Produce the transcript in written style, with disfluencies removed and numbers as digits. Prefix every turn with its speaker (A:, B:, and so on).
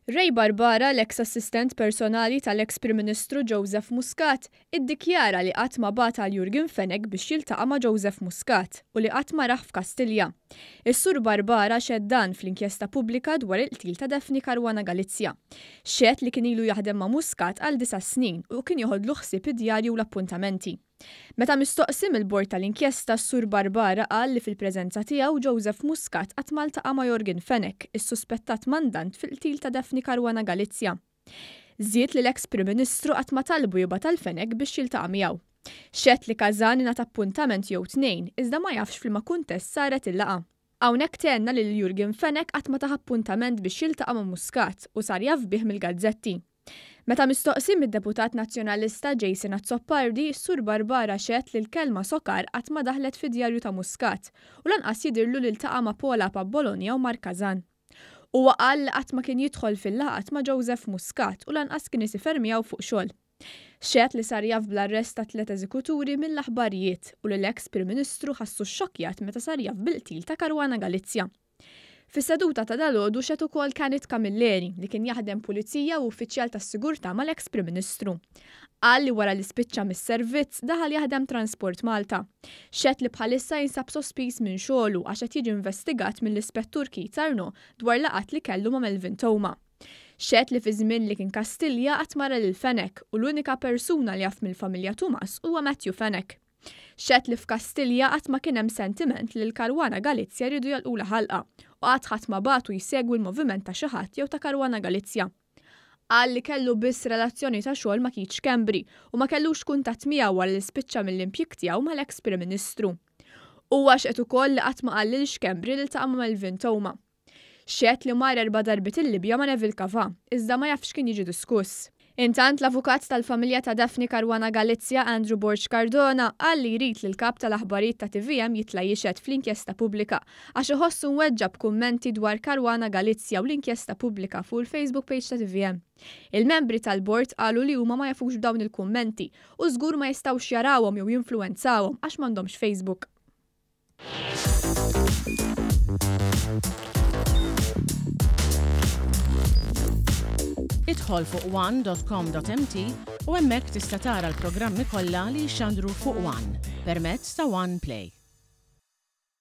A: Ray Barbara, l-eks assistent personali tal-eks Prim Ministru Joseph Muscat, iddikjara li qatt ma bagħat għal Yorgen Fenech biex jiltaqa' ma' Joseph Muscat u li qatt ma rah f'Kastilja. Is-Sur Barbara xehed dan fl-inkjesta pubblika dwar il-qtil ta' Daphne Caruana Galizia. Xehed li kien ilu jaħdem ma' Muscat għal disa' snin u kien joħodlu ħsieb id-djarju u l-appuntamenti. Meta mistoqsi mill-Bord tal-Inkjesta, s-Sur Barbara qal li fil-preżenza tiegħu Joseph Muscat qatt ma ltaqa' ma' Yorgen Fenech, is-suspettat mandant fil-qtil ta' Daphne Caruana Galizia. Żied li l-eks Prim Ministru qatt ma talbu jibgħat għal Fenech biex jiltaqa' miegħu. Xehed li Kazan ingħata appuntament jew tnejn, iżda ma jafx f'liema kuntest saret il-laqgħa. Hawnhekk tenna li lil Yorgen Fenech qatt ma tah appuntament biex jiltaqa' ma' Muscat u sar jaf bih mill-gazzetti. Meta mistoqsi mid-Deputat Nazzjonalista Jason Azzopardi, s-Sur Barbara xehed li l-kelma sokar qatt ma daħlet fid-djarju ta' Muscat u lanqas jidhirlu li ltaqa' ma' Paul Apap Bologna u Mark Kazan. Huwa qal li qatt ma kien jidħol fil-laqgħat ma' Joseph Muscat u lanqas kien isifer miegħu fuq xogħol. Xehed li sar jaf bl-arrest tat-tliet eżekuturi mill-aħbarijiet u li l-eks Prim Ministru ħassu xxokkjat meta sar jaf bil-qtil ta' Caruana Galizia. Fis-seduta ta' dalgħodu xehed ukoll Kenneth Camilleri, li kien jaħdem pulizija u uffiċjal tas-sigurtà mal-eks Prim Ministru. Qal li wara li spiċċa mis-servizz, daħal jaħdem Transport Malta. Xehed li bħalissa jinsab sospiż minn xogħlu għax qed jiġi investigat mill-Ispettur Keith Arnaud dwar laqgħat li kellu ma' Melvin Theuma. Xehed li fiż-żmien li kien Kastilja qatt ma ra lil Fenech u l-unika persuna li jaf mill-familja Tumas huwa Matthew Fenech. Xehed li f'Kastilja qatt ma kien hemm sentiment li l-Caruana Galizia riedu jagħlqulha ħalqha u qatt ħadd ma bagħtu jsegwi l-moviment ta' xi ħadd jew ta' Caruana Galizia. Qal li kellu biss relazzjoni ta' xogħol ma' Keith Schembri u ma kellux kuntatt miegħu wara li spiċċa mill-impjieg tiegħu mal-eks Prim Ministru. Huwa xehed ukoll li qatt ma qal lil Schembri li ltaqa' ma' Melvin Theuma. Xehed li mar erba' darbiet il-Libja ma' Neville Cavà, iżda ma jafx x'kien jiġi diskuss. Intant, l-avukat tal-familja ta' Daphne Caruana Galizia, Andrew Borg Cardona, qal li jrid li l-kap tal-aħbarijiet ta' tvm jitla' jixhed fl-inkjesta pubblika għax iħossu mweġġa' b'kummenti dwar Caruana Galizia u l-inkjesta pubblika fuq il-Facebook page ta' tvm. Il-membri tal-bord qalu li huma ma jafux b'dawn il-kummenti u żgur ma jistgħux jarawhom jew jinfluwenzawhom għax m'għandhomx Facebook.
B: Idħol fuq one.com.mt u hemmhekk tista' tara l-programmi kollha li jixxandru fuq One permezz ta' One Play.